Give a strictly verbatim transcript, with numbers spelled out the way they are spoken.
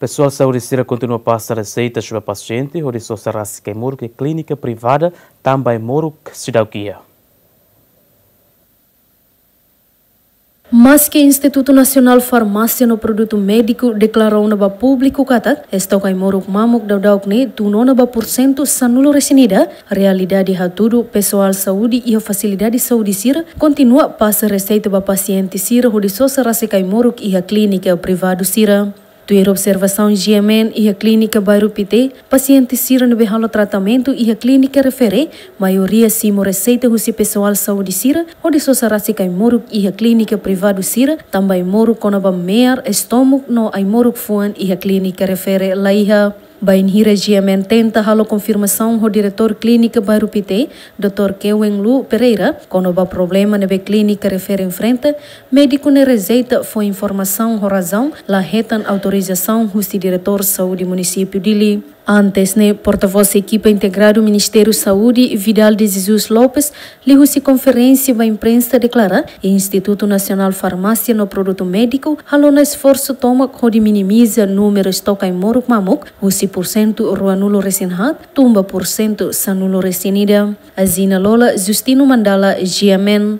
Pesoál saúde sira kontinua pasa reseitas ba pasiente hodi sosa rasik ai-moruk iha klínika privada tanba ai-moruk seidauk iha. Maski Institutu Nasionál Farmásia no Produtu Médiku deklara ona ba públiku katak estok ai-moruk mamuk daudauk ne'e tun ona ba pursentu sanulu-resin-ida, realidade hatudu pesoál saúde iha fasilidade saúde sira kontinua pasa reseita ba pasiente sira hodi sosa rasik ai-moruk iha klínika privadu sira. Tuir observasaun G M N, iha klínika Bairru Pité, pasiente sira ne'ebé halo tratamentu iha klínika refere, maioria simu reseita husi pesoál saúde sira hodi sosa rasik ai-moruk iha klínika privadu sira, tanba ai-moruk kona-ba me'ar, estómagu no ai-moruk fuan iha klínika refere laiha. Bainhira G M N tenta halo konfirmasaun ho Diretór Klínika Bairru Pité, doutór Keweng Lu Pereira, kona-ba problema ne'ebé klínika refere enfrenta, médiku ne'e rejeita fó informasaun ho razaun la hetan autorizasaun husi Diretór Saúde Munisípiu Dili. Antes ne'e, portavós ekipa integradu Ministériu Saúde, Vidal de Jesus Lopes, liuhusi konferénsia ba imprensa deklara, Institutu Nasionál Farmásia no Produtu Médiku halo ona esforsu tomak hodi minimiza númeru estok ai-moruk mamuk husi pursentu ruanulu-resin-haat tun ba pursentu sanulu-resin-ida. Azina Lola, Justino Mandala, G M N.